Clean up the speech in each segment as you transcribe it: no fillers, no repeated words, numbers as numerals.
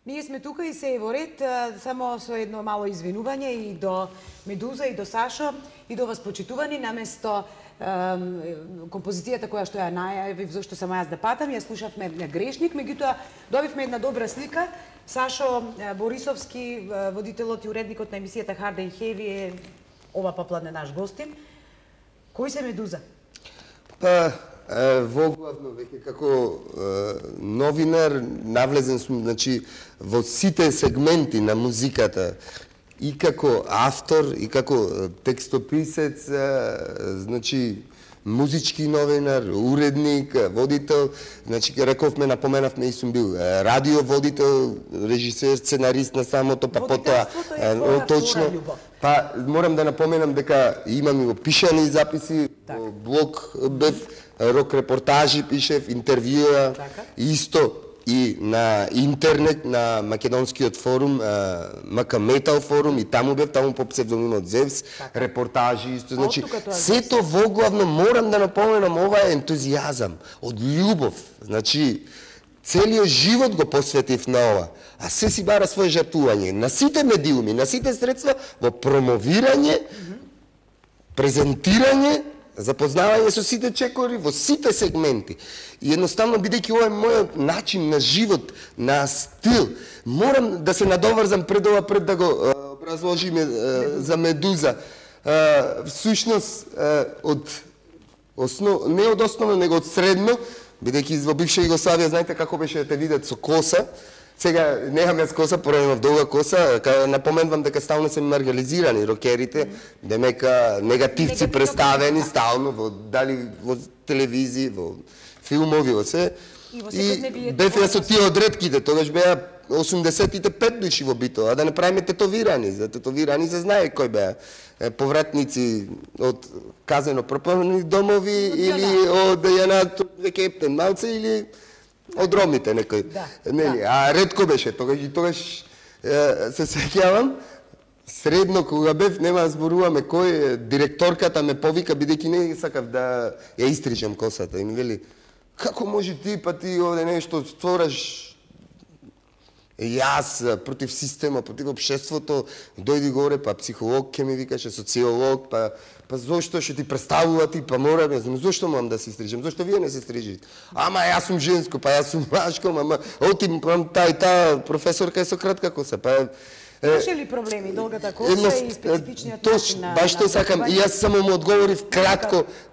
Ние сме тука и се е во ред, само со едно мало извинување и до Медуза и до Сашо и до вас почитувани, наместо композицијата која што ја најавив зашто само јас да патам, ја слушавме на Грешник, меѓутоа добивме една добра слика. Сашо Борисовски, водителот и уредникот на емисијата Hard and Heavy е ова попладне наш гостин. Кој се Медуза? Па, воглавно веќе како новинар навлезен сум, значи, во сите сегменти на музиката, и како автор, и како текстописец, значи, музички новинар, уредник, водител, значи, рековме, напоменавме и сум бил радиоводител, режисер, сценарист на самото, па потоа точно. Па морам да напоменам дека имам и во пишани записи, во блог бев, рок репортажи пишев, интервјуа, исто и на интернет, на македонскиот форум, МК Метал форум, и таму бев, таму по псевдонимот Зевс, репортажи, исто, значи, сето воглавно морам да напоменам, ова е ентузијазам, од љубов, значи, целиот живот го посветив на ова, а се си бара своје жртвување, на сите медиуми, на сите средства, во промовирање, презентирање, запознавање со сите чекори во сите сегменти. И едноставно, бидејќи ова е мојот начин на живот, на стил, морам да се надоврзам пред ова, пред да го образложиме за Медуза. Всушност, не од основно, него од средно, бидејќи во бивша Југославија, знаете како беше да те видат со коса, сега немам јас коса, порано имав долга коса, напоменувам дека стално се маргализирани рокерите, демека негативци представени стално, дали во телевизија, во филмови, во се. И бев јас од тие одредките, тогаш беа 85 души во битова, да не правиме тетовирани, за тетовирани се знае кој беа. Повратници од казено пропалени домови или од Јанат веќе Ептен малце или од ромите некој. Нели, а ретко беше, тогаш се сеќавам, средно кога бев, нема да зборуваме кој, директорката ме повика, бидејќи не сакав да ја истричам косата, и ми вели, како може ти, па ти овде нешто створаш, јас против система, против општеството, дојди горе, па психолог ке ми викаше, социолог, па зошто ќе ти представува ти, па мора, не знам, зошто морам да се стрижам, зошто вие не се стрижите? Ама јас сум женско, па јас сум машко, ама оти таа професорка е со кратка коса, па имаше ли проблеми долгата коса и специфичниот начин на баш тоа сакам, и јас само му одговорив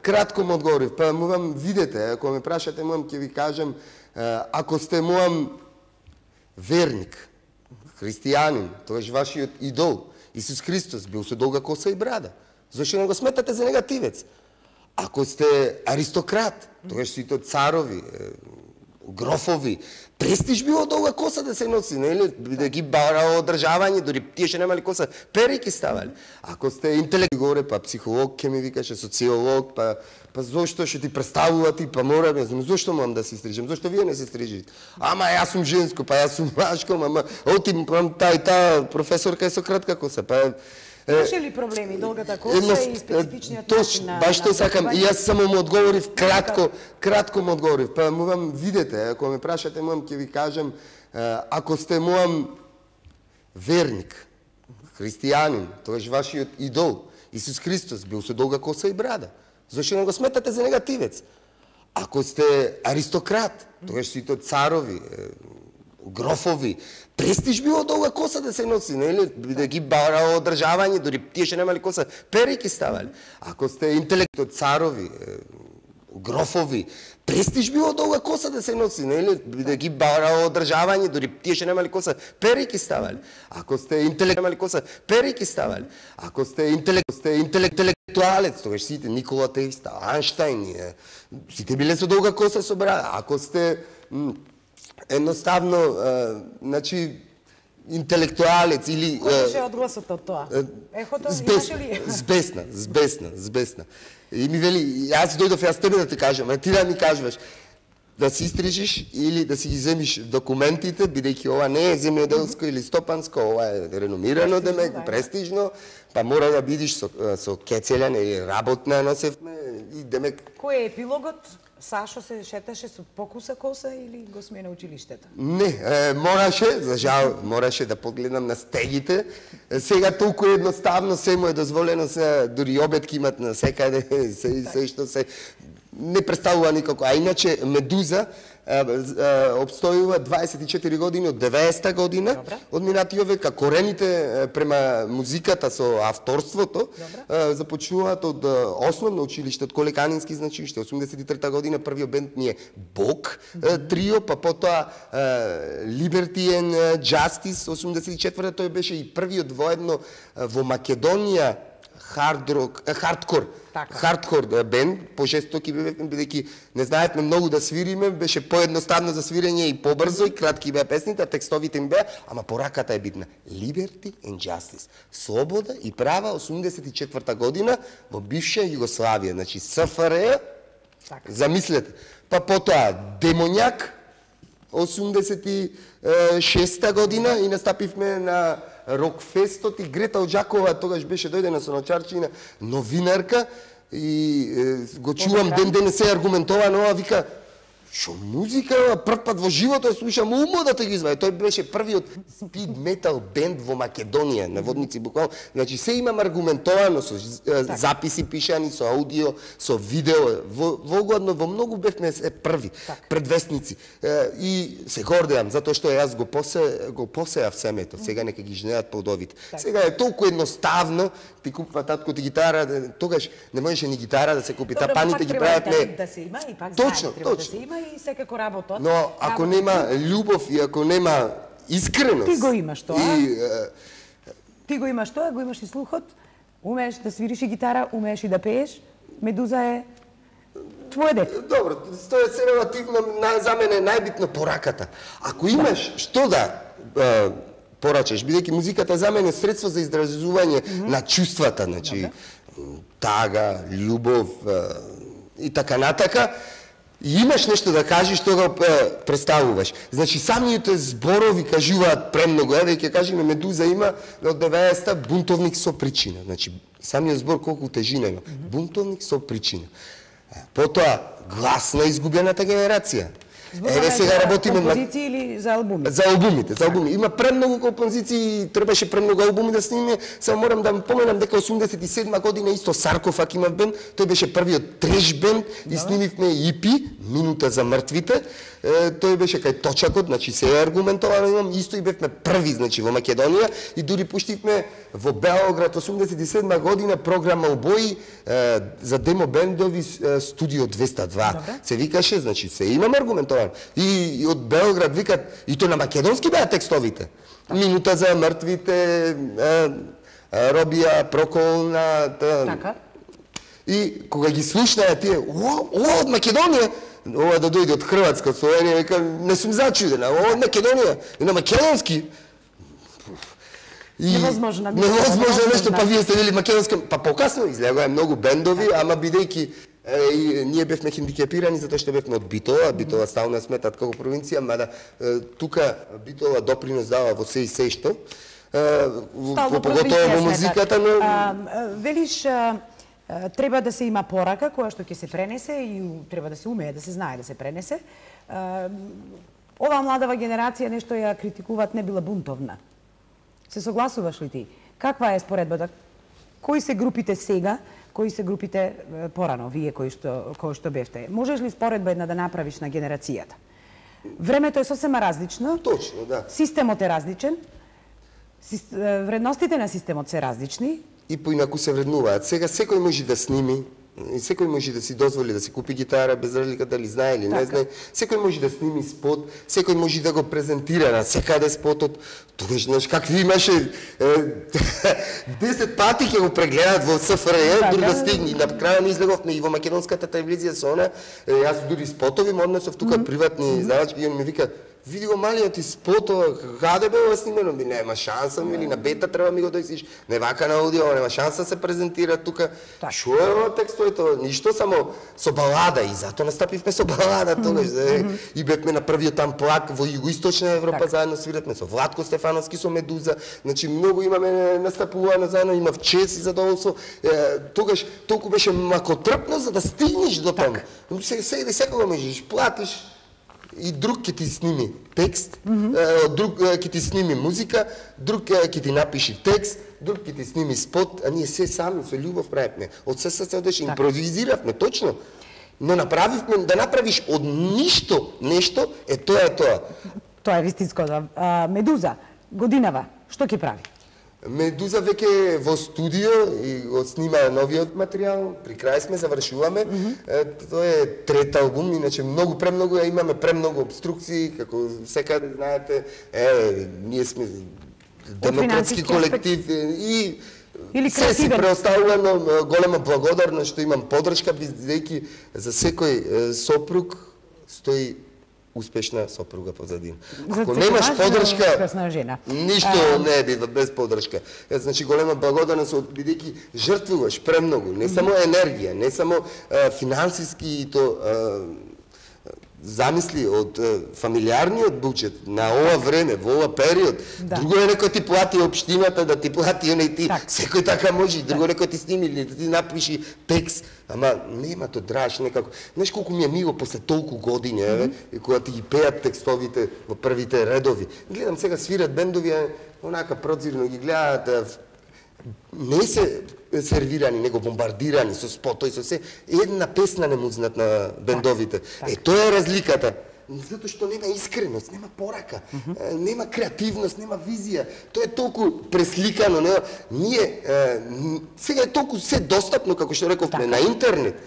кратко му одговорив, па мувам видете, ако ме прашате, мувам ќе ви кажам, ако сте мувам верник, христијанин, тоаш вашиот идол, Исус Христос бил со долга коса и брада. Зошто не го сметате за негативец? Ако сте аристократ, тоаш сите царови, грофови, престиж било долга коса да се носи, нели? Да ги бара одржавање, дори тие што немали коса, перики ставали. Ако сте интелект горе, па психолог ке ми викаше, социолог, па зошто ќе ти представува ти, па мора, не знам, зошто морам да се стрижам, зошто вие не се стрижите? Ама јас сум женско, па јас сум машко, ама оти таа професорка е со кратка коса, па имаше ли проблеми долгата коса и специфичниот начин на баш тоа сакам, и јас само му одговорив кратко му одговорив, па мувам видете, ако ме прашате, мувам ќе ви кажам, ако сте мувам верник, христијанин, тоаш вашиот идол, Исус Христос бил со долга коса и брада. Зошто не го сметате за негативец? Ако сте аристократ, тоаш сите царови, грофови, престиж било долга коса да се носи, нели? Да ги бара одржавање, дори тие што немали коса, перики ставали. Ако сте интелект царови, грофови, престиж било долга коса да се носи, нели? Да ги бара одржавање, дори тие што немали коса, перики ставали. Ако сте интелект немали коса, перики ставали. Ако сте интелектуалец, тогаш сите Никола Тесла, Ајнштајн, сите биле со долга коса со брада. Ако сте едноставно, значи, интелектуалец или... Кој беше одгласот од тоа? Ехото, имаше ли? Збесна. И ми вели, јас дојдов, јас тебе да ти кажам, а ти да ми кажеш, да си истрижиш или да си ги земиш документите, бидејќи ова не е земјоделско или стопанско, ова е реномирано, демек, престижно, па мора да бидиш со кецелен или работна носевме и демек... Кој е епилогот? Сашо се шеташе со покуса коса или го смена училиштето? Не, мораше, за жал, мораше да погледнам на стегите. Сега толку едноставно се му е дозволено, се дури обетки имат на секаде, се што се не представува никако. А иначе Медуза обстојува 24 години од 90-та година, од минатиот век, а корените према музиката со авторството започнуваат од основно училиште, од Колеканински, значи уште 83-та година првиот бенд ни е Бог трио, па потоа Liberty and Justice 84-та, тој беше и првиот воедно во Македонија хардкор бенд, пожестоки бевме, бидејќи не знаевме многу да свириме, беше поедноставно за свирење и побрзо, и кратки беа песните, а текстовите им беа, ама пораката е битна. Liberty and Justice. Слобода и права, 84-та година, во бивша Југославија, значи СФР, замислете. Па потоа Демоњак, 86-та година, и настапивме на Рокфестот, и Грета Оџакова тогаш беше дојдена со ночарчина, новинарка, и го чувам ден денес се аргументовано, ова вика, шо музика, прв пат во животот слушам умодата ги изваја. Тој беше првиот спид метал бенд во Македонија, наводници буквално. Значи се имам аргументовано со записи пишани, со аудио, со видео, вогладно во многу бевме први предвестници. И се гордеам затоа што јас го посеав семето. Сега нека ги жнеат плодовите. Сега е толку едноставно, ти купува татко ти гитара, тогаш не можеше ни гитара да се купи, тапаните ги прават не. Да се има и пак точно, да се има и секако работот. Но ако нема љубов и ако нема искреност... Ти го имаш тоа. Ти го имаш тоа, го имаш и слухот, умееш да свириш и гитара, умееш и да пееш. Медуза е твое дете. Добро, тоа е се релативно, за мене е најбитно пораката. Ако имаш што да порачеш, бидејќи музиката за мене е средство за изразување на чувствата, значи тага, љубов и така натака, и имаш нешто да кажеш, тога представуваш. Значи, самите зборови кажуваат премногу. Еве, ќе кажеме, Медуза има од 90-та бунтовник со причина. Значи, самиот збор колку тежина има. Бунтовник со причина. Потоа, глас на изгубената генерација. Еве сега работиме на композиции или за албуми? За албуми. Има премногу композиции, требаше премногу албуми да снимиме. Само морам да поменам дека 87 година исто Саркофаг има бенд, тој беше првиот треш бенд и снимивме EP, Минута за мртвите. Тој беше кај Точакот, значи се е аргументовано, имам исто и бевме први, значи во Македонија, и дури пуштивме во Белоград 87 година програма Обои за демо бендови Студио 202. Се викаше, значи се имам аргументовано. И од Белоград викат, и то на македонски беа текстовите. Минута за мртвите, Робија, Проколна. Така. И кога ги слушнаа тие, ова од Македонија, ова да дојде од Хрватска, Словенија, века, не сум зачудена, ова од Македонија, и на македонски. Невозможно нешто, па вие сте вели македонски, па покасно излегоа многу бендови, ама бидејќи ние бевме хендикепирани затоа што бевме од Битола, Битола стално сметат како провинција, мада тука Битола допринос дава во се и се што, поготово во музиката, но... Велиш, треба да се има порака која што ќе се пренесе и треба да се умее, да се знае да се пренесе. Оваа младава генерација нешто ја критикуваат, не била бунтовна. Се согласуваш ли ти? Каква е споредбата? Кои се групите сега, кои се групите порано, вие кои што бевте? Можеш ли споредба една да направиш на генерацијата? Времето е сосема различно. Точно, да. Системот е различен. Вредностите на системот се различни. И поинаку се вреднуваат. Сега секој може да сними, и секој може да си дозволи да си купи гитара, без разлика дали знае или не знае. Секој може да сними спот, секој може да го презентира на секаде спотот. Тогаш, знаеш, какви имаше 10 пати ќе го прегледат во СФРЈ, дури да стигне. На крај не излеговме и во македонската телевизија со она. Јас дури спотови му однесов тука приватни издавачки и он ми вика: види го малиот и спото, каде бе ова снимено, нема шанса, или на бета треба ми го дојсиш, не вака на аудио, нема шанса да се презентира тука. Шо е ова текстој, ништо, само со балада, и затоа настапивме со балада тогаш, и бевме на првиот амплак во Југоисточна Европа, заедно свиратме со Владко Стефановски, со Медуза, значи многу имаме настапувано заедно, имав чест и задоволство, тогаш толку беше макотрпно за да стигнеш до таму. Секога можеш, платиш, и друг ќе ти сними текст, друг ќе ти сними музика, друг ќе ти напиши текст, друг ќе ти сними спот, а ние се сами со љубов правевме. Од се срце одеше, импровизиравме, точно. Но направивме, да направиш од ништо нешто, тоа е тоа. Тоа е вистинско. Медуза, годинава, што ќе прави? Медуза веќе во студио и го снима новиот материјал, при крај сме, завршуваме. Тоа е трет албум, иначе премногу имаме премногу обструкции, како секаде знаете, ние сме демократски колектив и се си преоставувано, голема благодарност што имам поддршка, бидејќи за секој сопруг стои успешна сопруга позадин. Ако немаш поддршка, ништо не бива без поддршка. Значи голема благодарност бидејќи жртвуваш премногу, не само енергија, не само финансиски и то замисли од фамилиарниот буџет на ова време, во ова период. Друго е некој ти плати општината, да ти плати оној ти, секој така може, друго некој ти сними или да ти напиши текст, ама нема то драж некако. Знаеш колку ми е мило после толку години, кога ти ги пеат текстовите во првите редови. Гледам сега свират бендови, онака прозирно ги гледаат, не се сервирани, него бомбардирани со спотои, со се. Една песна не му знаат на бендовите. Тоа е разликата. Затоа што нема искреност, нема порака, нема креативност, нема визија. Тоа е толку пресликано. Ние, сега е толку се достапно, како што рековме, на интернет.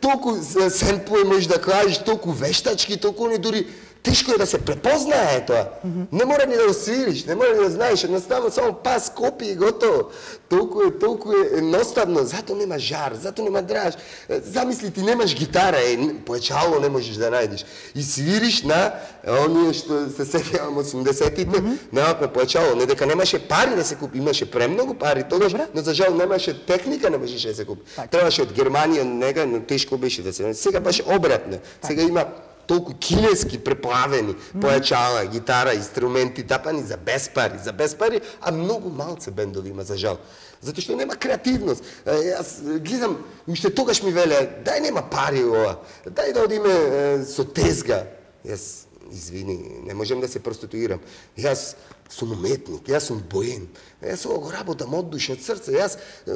Толку семплој можеш да кажеш, толку вештачки, толку не дури тешко е да се препознае тоа. Не мора ни да го свириш, не мора ни да знаеш, едноставно само пас, копи и готово. Толку е едноставно, зато нема жар, зато нема драж. Замисли ти немаш гитара, поечало не можеш да најдеш. И свириш на оние што се сеќавам 80-тите, на поечало, не дека немаше пари да се купи, имаше премногу пари тогаш, но за жал немаше техника, не можеше да се купи. Требаше од Германија, нега, но тешко беше да се. Сега беше обратно. Сега има толку кинески преплавени појачала, гитара, инструменти тапани за без пари, а многу малце бендови има за жал. Затоа што нема креативност. Јас гледам, уште тогаш ми веле, дај нема пари ова, дај да одиме со тезга. Јас, извини, не можем да се проституирам. Јас сум уметник, јас сум боен. Јас ова го работам од душа, од срце.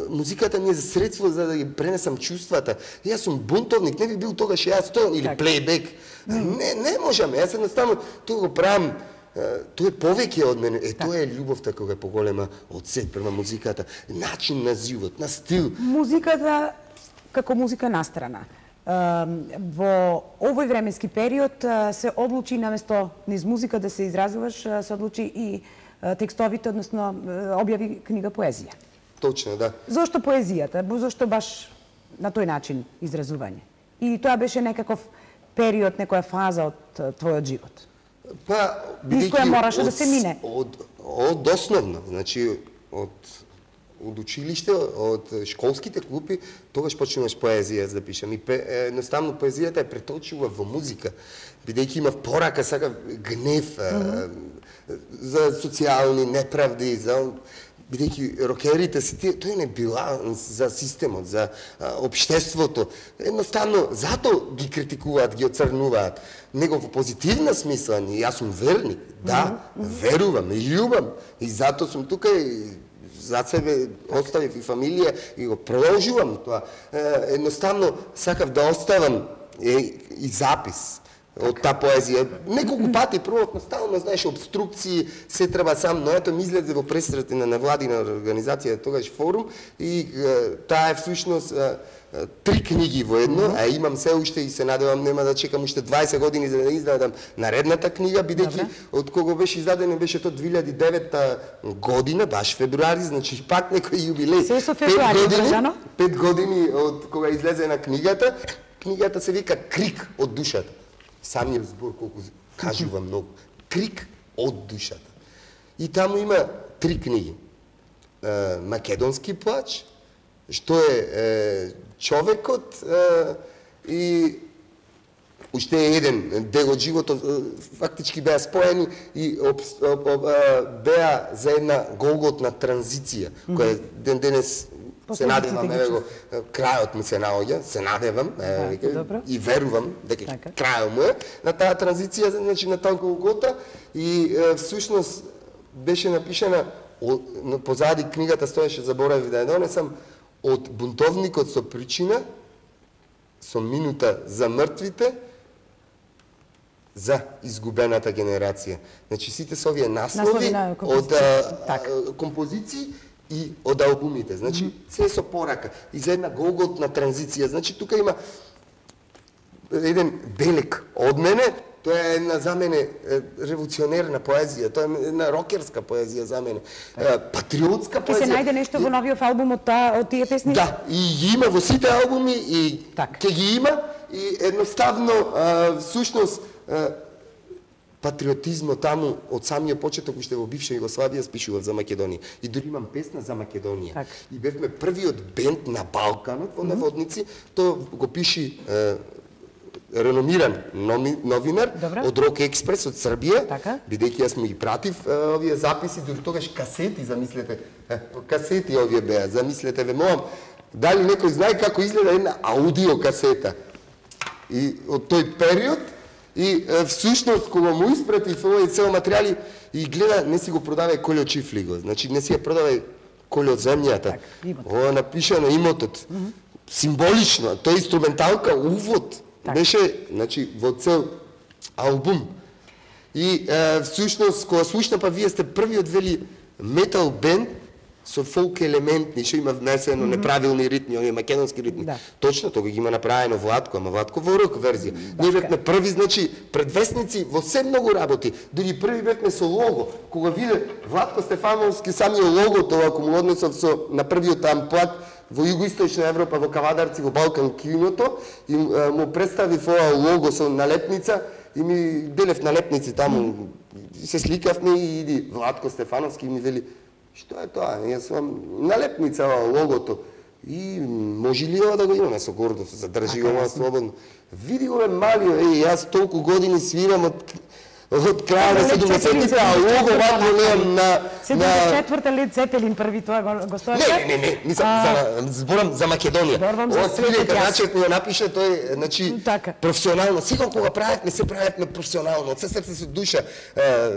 Музиката ми е за средство за да ги пренесам чувствата. Јас сум бунтовник, не би бил тогаш јас тоа, или плейбек. Не можам, јас едноставно тоа го правам, тоа е повеќе од мене, тоа е љубовта кога е поголема од сет према музиката, начин на живот, на стил. Музиката како музика настрана. Во овој временски период се одлучи наместо низ музика да се изразуваш, се одлучи и текстовите, односно објави книга поезија. Точно, да. Зошто поезијата? Зошто баш на тој начин изразување? И тоа беше некаков период, некоја фаза од твојот живот? Па, низ која мораше да се мине? Од основно, значи, од училиште, од школските клупи, тогаш почнуваш поезија да пишам. И едноставно поезијата е преточува во музика, бидејќи имав порака, сакав гнев за социјални неправди, бидејќи рокерите си тој не биланс за системот, за општеството. Едноставно, зато ги критикуваат, ги оцрнуваат. Него во позитивна смисла, јас сум верник, да, верувам и љубам. И зато сум тука и за себе оставив и фамилија и го продолжувам тоа. Едноставно, сакав да оставам и запис од таа поезија. Неколку пати пробавме, стално, знаеш, обструкции, се треба сам, но ето ми излезе во пресрати на невладина организација, тогаш форум, и таа е всушност 3 книги во едно, а имам се уште и се надевам нема да чекам уште 20 години за да издадам наредната книга, бидејќи од кога беше издадено беше тоа 2009 година, баш февруари, значи пак некој јубилеј. Се со февруари одржано? 5 години од кога излезе на книгата. Книгата се вика Крик од душата. Самиот збор колку кажува многу. Крик од душата. И таму има 3 книги. Македонски плач, што е човекот и уште еден дел од животот, фактички беа споени и беа за една голготна транзиција, која ден денес се надевам, крајот ми се наоѓа, се надевам и верувам дека крајот му е на таа транзиција, значи на таа голгота, и всушност беше напишана позади книгата стоеше, заборавив да ја донесам, од бунтовникот со причина, со минута за мртвите, за изгубената генерација. Значи сите се овие наслови од композиции и од албумите. Значи се со порака и за една голготна транзиција. Значи тука има еден белек од мене, тоа е една за мене револуционерна поезија, тоа е една рокерска поезија за мене, патриотска поезија. Ќе се најде нешто во новиот албум од тие песни? Да, и ги има во сите албуми и ќе ги има и едноставно всушност патриотизмот таму од самиот почеток уште во бивша Југославија спишував за Македонија. И дури имам песна за Македонија. И бевме првиот бенд на Балканот во Наводници, тоа го пиши реномиран новинар од Рок Експрес од Србија, бидејќи јас му ги пратив овие записи, дури тогаш касети, замислете, касети овие беа, замислете, ве молам, дали некој знае како изгледа една аудио касета? И од тој период, и всушност кога му испратив овој цел материјали и гледа, не си го продавај Колјо Чифлиго, значи не си ја продавај Колјо земјата. Ова напиша на имотот. Символично, тој инструменталка, увод, беше, значи, во цел албум. И всушност, кога слушна, па вие сте првиот вели метал бенд со фолк елементни, што има внесено неправилни ритми, овие македонски ритми. Точно, тога ги има направено Владко, ама Владко во рок верзија. Ние бевме први, значи, предвесници во се многу работи. Дури први бевме со лого. Кога виде Владко Стефановски самиот логото, ако му однесов со на првиот амплат во Југоисточна Европа, во Кавадарци, во Балкан киното, и му представив ова лого со налепница, и ми делев налепници таму, се сликавме и иди Владко Стефановски и ми вели: што е тоа? Јас сум налепница логото. И може ли ова да го имаме со гордост, задржи ова слободно. Види го малио, јас толку години свирам од крај на 70-те, а лого вако немам на 74-та Лед Цепелин први тоа го стоеше? Не, зборам за Македонија. Ова свирека начет ми ја напише тој, значи, професионално. Сигурно кога правевме, се правевме професионално, од се срце со душа.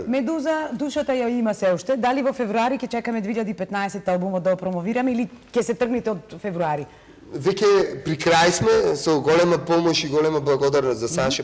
Медуза, душата ја има се уште. Дали во февруари ќе чекаме 2015 албумот да го промовираме или ќе се тргнете од февруари? Веќе при крај сме, со голема помош и голема благодарност за Саша